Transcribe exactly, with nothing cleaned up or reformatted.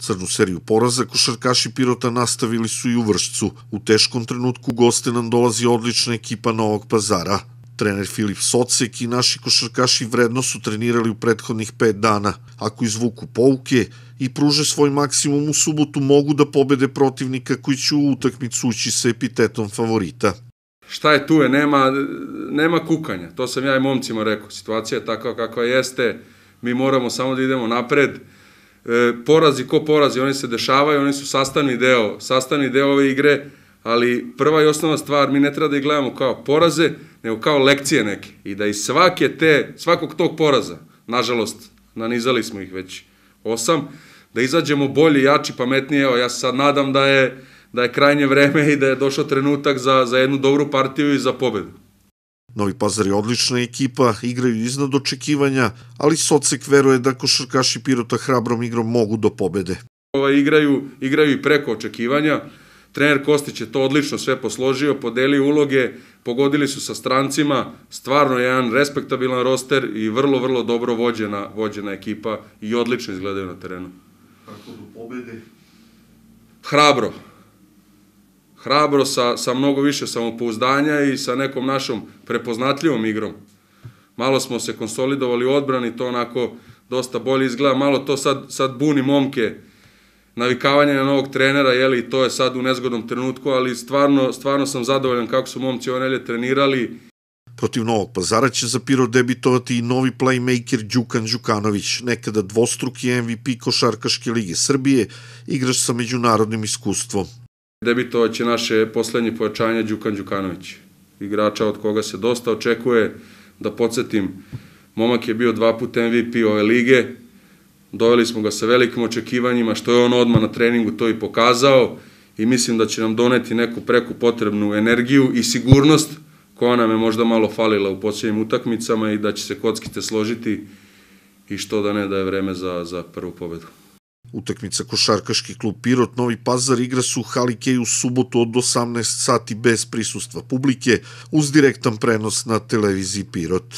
Crnu seriju poraza košarkaši Pirota nastavili su i u Vršcu. U teškom trenutku goste nam dolazi odlična ekipa Novog Pazara. Trener Filip Socek i naši košarkaši vredno su trenirali u prethodnih pet dana. Ako izvuku pouke i pruže svoj maksimum u subotu, mogu da pobede protivnika koji će u utakmicu ući sa epitetom favorita. Šta je tu je, nema, nema kukanja, to sam ja i momcima rekao, situacija je takva kakva jeste, mi moramo samo da idemo napred, e, porazi ko porazi, oni se dešavaju, oni su sastavni deo, sastavni deo ove igre, ali prva i osnovna stvar, mi ne treba da ih gledamo kao poraze, nego kao lekcije neke, i da iz svake te, svakog tog poraza, nažalost, nanizali smo ih već osam, da izađemo bolji, jači, pametnije, evo, ja se sad nadam da je da je krajnje vreme i da je došao trenutak za, za jednu dobru partiju i za pobedu. Novi Pazar je odlična ekipa, igraju iznad očekivanja, ali Socek veruje da košarkaši Pirota hrabrom igrom mogu do pobede. Ovaj, igraju, igraju i preko očekivanja. Trener Kostić je to odlično sve posložio, podelio uloge, pogodili su sa strancima, stvarno je jedan respektabilan roster i vrlo, vrlo dobro vođena, vođena ekipa i odlično izgledaju na terenu. Kako do pobede? Hrabro. Hrabro sa, sa mnogo više samopouzdanja i sa nekom našom prepoznatljivom igrom. Malo smo se konsolidovali u odbrani, to onako dosta bolje izgleda, malo to sad, sad buni momke, navikavanje na novog trenera, jeli, to je sad u nezgodnom trenutku, ali stvarno, stvarno sam zadovoljan kako su momci ove nelje trenirali. Protiv Novog Pazara će za Pirot debitovati i novi playmaker Đukan Đukanović, nekada dvostruki M V P Košarkaške lige Srbije, igrač sa međunarodnim iskustvom. Debitovat će naše poslednje pojačanje Đukan Đukanović, igrača od koga se dosta očekuje. Da podsjetim, momak je bio dva puta M V P ove lige, doveli smo ga sa velikim očekivanjima, što je on odmah na treningu to i pokazao i mislim da će nam doneti neku preku potrebnu energiju i sigurnost koja nam je možda malo falila u posljednjim utakmicama i da će se kockice složiti i što da ne da je vreme za, za prvu pobedu. Utakmica košarkaški klub Pirot Novi Pazar igra se u Hali Kej u subotu od osamnaest sati bez prisustva publike uz direktan prenos na televiziji Pirot.